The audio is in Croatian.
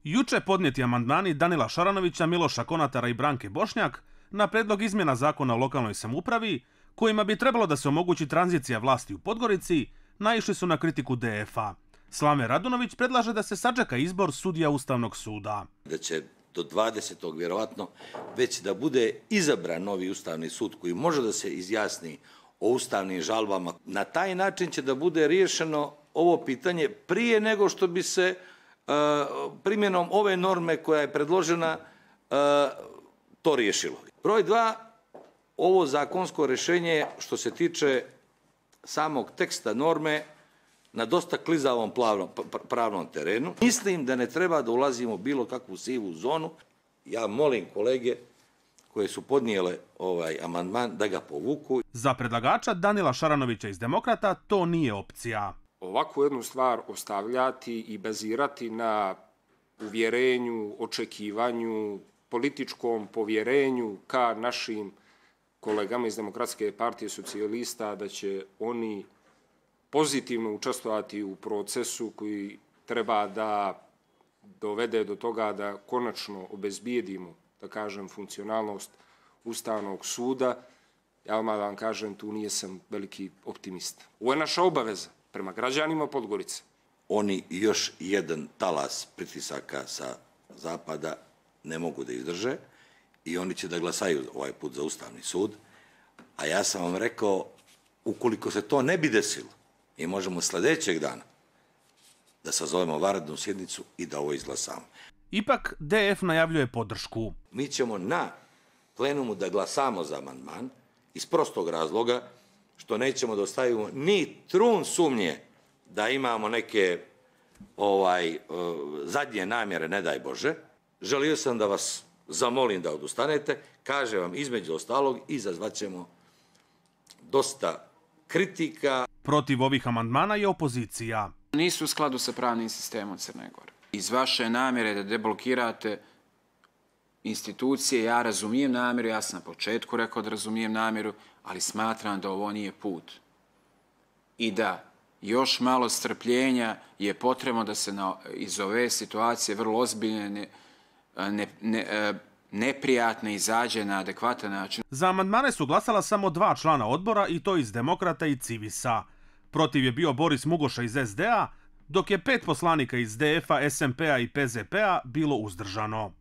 Juče podnijeti amandmani Danila Šaranovića, Miloša Konatara i Branke Bošnjak na predlog izmjena zakona o lokalnoj samoupravi, kojima bi trebalo da se omogući tranzicija vlasti u Podgorici, naišli su na kritiku DF-a. Slave Radunović predlaže da se sačeka izbor sudija Ustavnog suda. Da će do 20. vjerovatno već da bude izabran novi Ustavni sud koji može da se izjasni o ustavnim žalbama. Na taj način će da bude riješeno ovo pitanje prije nego što bi se primjenom ove norme koja je predložena to riješilo. Broj 2, ovo zakonsko rješenje što se tiče samog teksta norme na dosta klizavom pravnom terenu. Mislim da ne treba da ulazimo u bilo kakvu sivu zonu. Ja molim kolege koje su podnijele ovaj amandman da ga povuku. Za predlagača Danila Šaranovića iz Demokrata to nije opcija. Ovakvu jednu stvar ostavljati i bazirati na uvjerenju, očekivanju, političkom povjerenju ka našim kolegama iz Demokratske partije socijalista da će oni pozitivno učestvovati u procesu koji treba da dovede do toga da konačno obezbijedimo, da kažem, funkcionalnost Ustavnog suda. Ja vam kažem, tu nisam veliki optimista. Ovo je naša obaveza prema građanima Podgorice. Oni još jedan talas pritisaka sa zapada ne mogu da izdrže i oni će da glasaju ovaj put za Ustavni sud. A ja sam vam rekao, ukoliko se to ne bi desilo, mi možemo sljedećeg dana da sazovemo vanrednu sjednicu i da ovo izglasamo. Ipak DF najavljuje podršku. Mi ćemo na plenumu da glasamo za amandman iz prostog razloga što nećemo da ostavimo ni trun sumnje da imamo neke zadnje namjere, ne daj Bože. Želio sam da vas zamolim da odustanete, kažem vam između ostalog, izazvat ćemo dosta kritika. Protiv ovih amandmana je opozicija. Nisu u skladu sa pravnim sistemom Crne Gore. Iz vaše namjere da deblokirate institucije, ja razumijem namjeru, ja sam na početku rekao da razumijem namjeru, ali smatram da ovo nije put. I da još malo strpljenja je potrebno da se iz ove situacije vrlo ozbiljne, neprijatne izađe na adekvatan način. Za amandmane su glasala samo 2 člana odbora i to iz Demokrata i Civisa. Protiv je bio Boris Mugoša iz SD-a, dok je 5 poslanika iz DF-a, SMP-a i PZP-a bilo uzdržano.